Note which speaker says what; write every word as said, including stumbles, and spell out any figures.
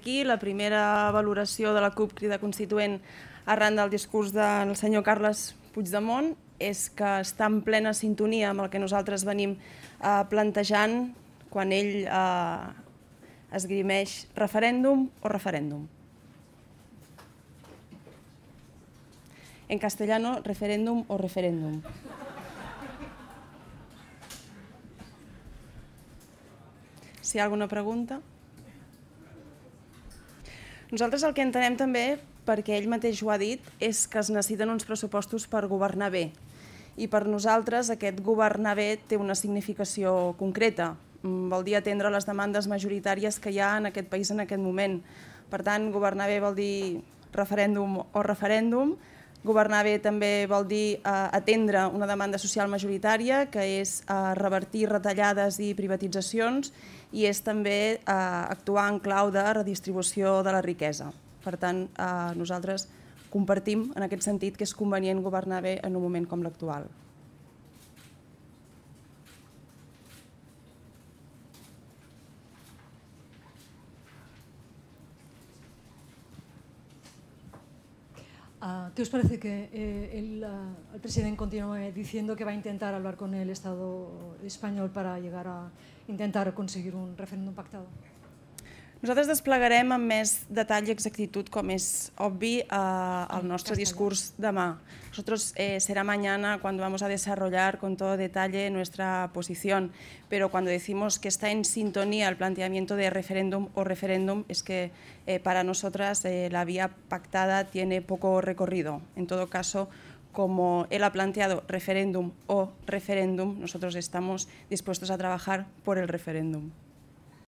Speaker 1: Aquí la primera valoració de la CUP Crida Constituent arran del discurs del senyor Carles Puigdemont és que està en plena sintonia amb el que nosaltres venim plantejant quan ell esgrimeix referèndum o referèndum. En castellano, referéndum o referéndum. Si hi ha alguna pregunta? Nosaltres el que entenem també, perquè ell mateix ho ha dit, és que es necessiten uns pressupostos per governar bé. I per nosaltres aquest governar bé té una significació concreta. Vol dir atendre les demandes majoritàries que hi ha en aquest país en aquest moment. Per tant, governar bé vol dir referèndum o referèndum. Governar bé també vol dir atendre una demanda social majoritària, que és revertir retallades i privatitzacions, i és també actuar en clau de redistribució de la riquesa. Per tant, nosaltres compartim en aquest sentit que és convenient governar bé en un moment com l'actual.
Speaker 2: ¿Qué os parece que el presidente continúe diciendo que va a intentar hablar con el Estado español para llegar a intentar conseguir un referéndum pactado?
Speaker 1: Nosaltres desplegarem amb més detall i exactitud, com és obvi, el nostre discurs demà. Nosotros será mañana cuando vamos a desarrollar con todo detalle nuestra posición, pero cuando decimos que está en sintonía el planteamiento de referéndum o referéndum, es que para nosotras la vía pactada tiene poco recorrido. En todo caso, como él ha planteado referéndum o referéndum, nosotros estamos dispuestos a trabajar por el referéndum.